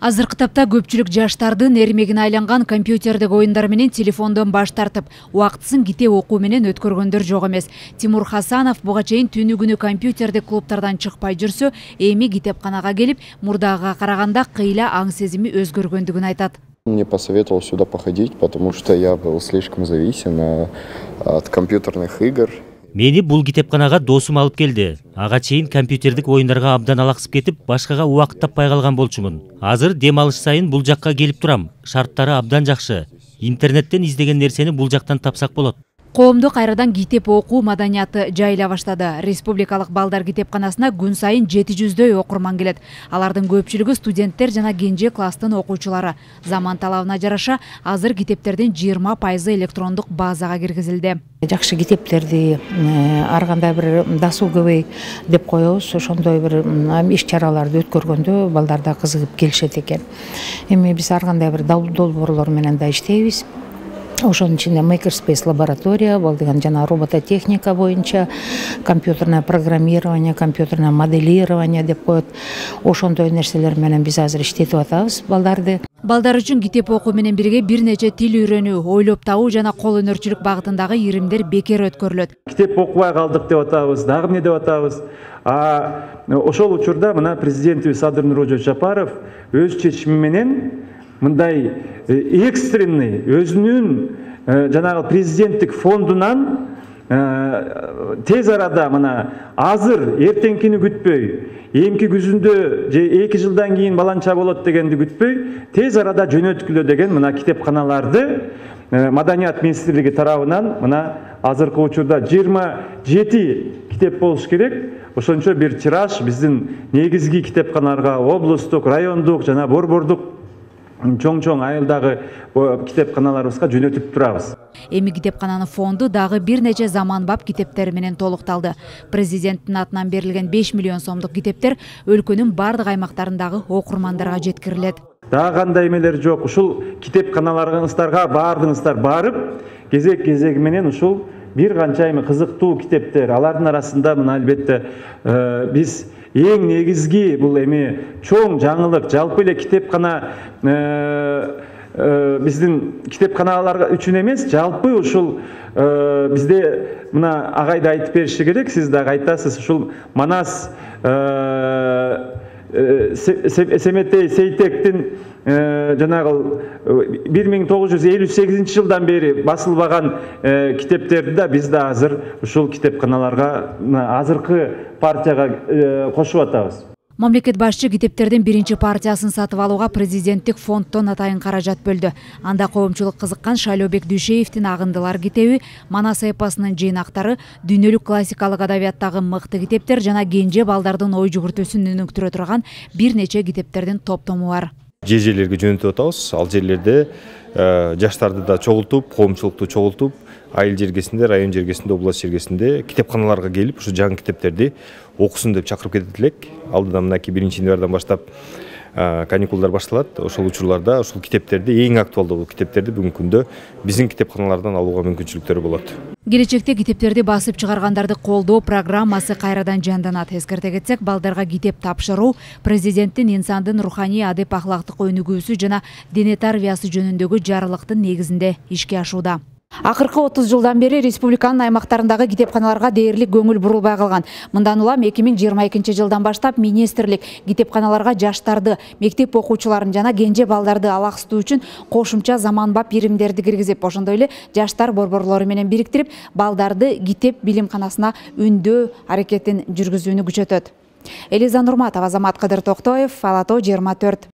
Азыркы тапта көпчүлүк жаштардын эрмегине айланган компьютердик оюндар менен телефондон баш тартып, убактысын китеп окуу менен өткөргөндөр жок эмес. Тимур Хасанов буга чейин түнү күнү компьютердик клубтардан чыкпай жүрсө, эми китепканага келип, мурдагыга караганда кыйла аң сезими өзгөргөндүгүн айтат. Мне посоветовал сюда походить, потому что я был слишком зависим от компьютерных игр. Мени бул китепканага досум алып келди. Ага чейин компьютердик оюндарга абдан алаксып кетип, башкага убакыт таппай калган болчумун. Азыр дем алыш сайын бул жакка келип турам. Шарттары абдан жакшы. Интернеттен издеген нерсени бул жактан тапсак болот. Коомдо кайрадан китеп окуу маданияты жайыла баштады. Республикалык балдар китепканасына күн сайын 700дөй окурман келет. Алардын көпчүлүгү студенттер жана кенже класстын окуучулары. Заман талабына жараша азыр китептердин 20% электрондук базага киргизилди. Жакшы китептерди ар кандай бир дасуу көбөй деп коебуз. Ошондой бир иш-чараларды өткөргөндө балдар да кызыгып келишет экен. Эми биз ар кандай бир долбоорлор менен да иштейбиз. Ошонун ичинде Makerspace лаборатория, бул деген жана робототехника боюнча, компьютерное программирование, компьютерное моделирование деп коет. Ошондой нерселер менен биз азыр иштетип атабыз балдарды. Балдар үчүн китеп окуу менен бирге бир нече тил үйрөнүү, ойлоп табуу жана кол өнөрчүлүк багытындагы иримдер бекер өткөрүлөт. Китеп окубай калдык деп атабыз, дагы эмне деп атабыз. Ошол учурда мына президентибиз Садыр Нурожо Жапаров өз чечими менен мындай экстренный өзүнүн жанагы президенттик фондунан тез арада мына азыр эртеңкини күтпөй, эмки күзүндө же 2 жылдан кийин баланча болот дегенди күтпөй, тез арада жөнөткүлө деген мына китепканаларды Маданият министрлиги тарабынан мына азыркы учурда 27 китеп болуш керек. Ошончо бир тираж биздин негизги китепканаларга, облустук, райондук жана борбордук чоң айылдагы китепканаларыбызга жөнөтүп турабыз. Эми китепкананын фонду дагы бир нече заманбап китептер менен толукталды. Президенттин атынан берилген 5 миллион сомдук китептер өлкөнүн бардык аймактарындагы окурмандарга жеткирилет. Дагы кандай эмелер жок, ушул китепканаларыңыздарга баардыгыңыздар барып, кезек менен ушул бир канча эми кызыктуу китептер, алардын арасында мына албетте биз эң негизги бул эми чоң жаңылык, жалпы эле китепкана биздин китепканалар үчүн эмес, жалпы ушул бизде мына агайды айтып бериши керек, сиз дагы айтасыз, ушул Манас Семетей Сейтектин жанагы 1958 жылдан бери басылбаган китептерди да биз да азыр ушул китепканаларга азыркы партияга кошуп атабыз. Мамлекет башчы китептердин биринчи партиясын сатып алууга президенттик фонддон атайын каражат бөлдү. Анда коомчулук кызыккан Шайлообек Дүйшеевдин Агындылар китеби, Манас эпосунун жыйнактары, дүйнөлүк классикалык адабияттагы мыкты китептер жана кенже балдардын ой жүгүртүүсүн өнүктүрө турган бир нече китептердин топтому бар. Жерлерге жөнөтүп атабыз. Ал жерлерде жаштарды да чогултуп, коомчулукту чогултуп, айыл жергесинде, район жергесинде, область жергесинде китепканаларга келип, ушу жаңы китептерди окусун деп чакырып кетет элек. Алдыдан мынакей 1-январдан баштап каникулдар башталат. Ошол учурларда ушул китептерди, эң актуалдуу бул китептерди бүгүнкү күндө биздин китепканалардан алууга мүмкүнчүлүктөрү болот. Келечекте китептерди басып чыгаргандарды колдоо программасы кайрадан жанданат. Эскерте кетсек, балдарга китеп тапшыруу президенттин инсандын руханий адеп ахлактык өнүгүүсү жана дене тарбиясы жөнүндөгү жарлыктын негизинде ишке ашууда. Акыркы 30 жылдан бери республиканын аймактарындагы китепканаларга дээрлик көңүл бурулбай калган. Мындан улам 2022 жылдан баштап министрлик китепканаларга жаштарды, мектеп окуучуларын жана кенже балдарды алаксытуу үчүн кошумча заманбап иримдерди киргизип, ошондой эле жаштар борборлору менен бириктирип, балдарды китеп билимканасына үндөө аракетин жүргүзүүнү күчөтөт. Элиза Нурматова, Азамат Кадыр Токтоев, Ала Тоо 24.